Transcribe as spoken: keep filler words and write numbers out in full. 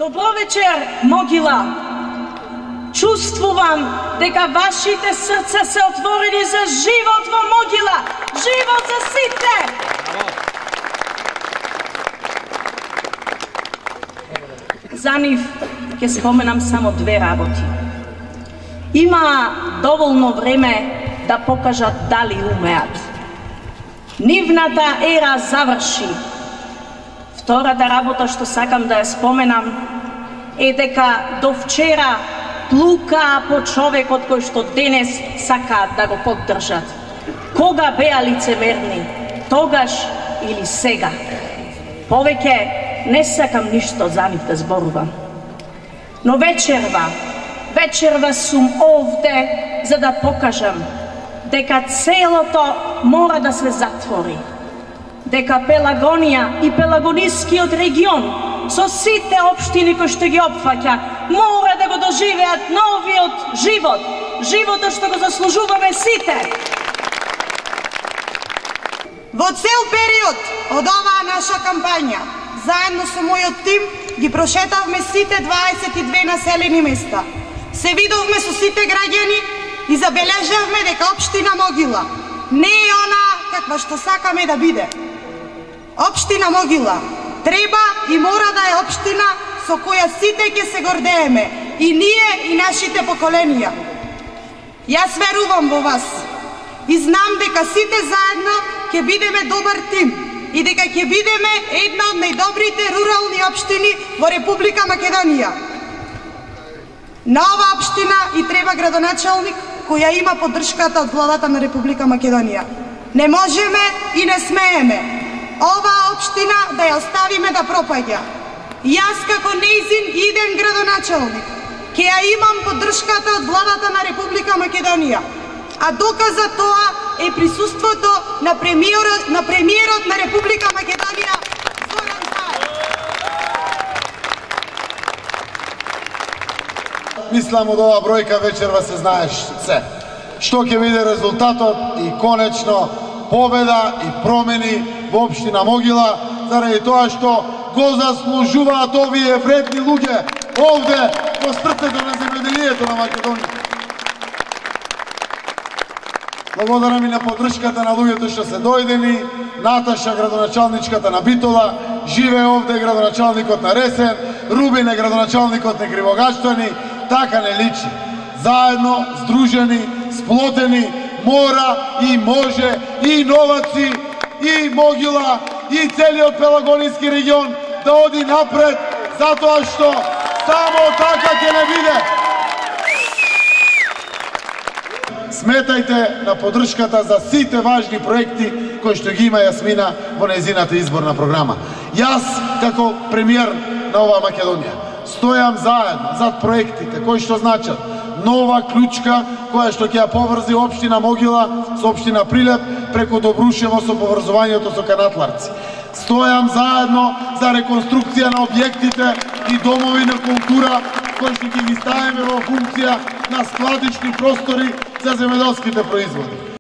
Добро вечер, Могила. Чувствувам дека вашите срца се отворени за живот во Могила. Живот за сите! За нив ќе споменам само две работи. Има доволно време да покажат дали умеат. Нивната ера заврши. Втората работа што сакам да ја споменам е дека до вчера плукаа по човекот кој што денес сакаат да го поддржат. Кога беа лицемерни? Тогаш или сега? Повеќе не сакам ништо за нив да зборувам. Но вечерва, вечерва сум овде за да покажам дека целото мора да се затвори. Дека Пелагонија и Пелагонискиот регион со сите општини кои што ги опфаќа мора да го доживеат новиот живот, животот што го заслужуваме сите. Во цел период од оваа наша кампања, заедно со мојот тим ги прошетавме сите дваесет и две населени места. Се видовме со сите граѓани и забележавме дека општина Могила не е она каква што сакаме да биде. Општина Могила треба и мора да е општина со која сите ќе се гордееме, и ние и нашите поколенија. Јас верувам во вас и знам дека сите заедно ќе бидеме добар тим и дека ќе бидеме една од најдобрите рурални општини во Република Македонија. На оваа општина и треба градоначалник која има поддршката од владата на Република Македонија. Не можеме и не смееме оваа општина да ја оставиме да пропаѓа. Јас како нејзин иден градоначалник ќе ја имам поддршката од владата на Република Македонија, а доказ за тоа е присуството на премиерот на премиерот на Република Македонија Зоран Заев. Мислам од оваа бројка вечерва се знаеш се. Што ќе биде резултатот и конечно победа и промени во општина Могила, заради тоа што го заслужуваат овие вредни луѓе овде во срцето на земјоделието на Македонија. Благодарам и на поддршката на луѓето што се дојдени. Наташа, градоначалничката на Битола, живее овде градоначалникот на Ресен, Рубин е градоначалникот на Кривогаштани. Така не личи. Заедно, здружени, сплотени, мора и може и Новаци, и Могила, и целиот Пелагониски регион да оди напред, затоа што само така ќе не биде. Сметајте на поддршката за сите важни проекти кои што ги има Јасмина во нејзината изборна програма. Јас, како премиер на оваа Македонија, стојам заедно зад проектите кои што значат нова клучка која што ќе ја поврзи општина Могила со општина Прилеп преку Добрушево со поврзувањето со Канатларци. Стојам заедно за реконструкција на објектите и домови на култура кои што ќе ги ставиме во функција на складични простори за земјоделските производи.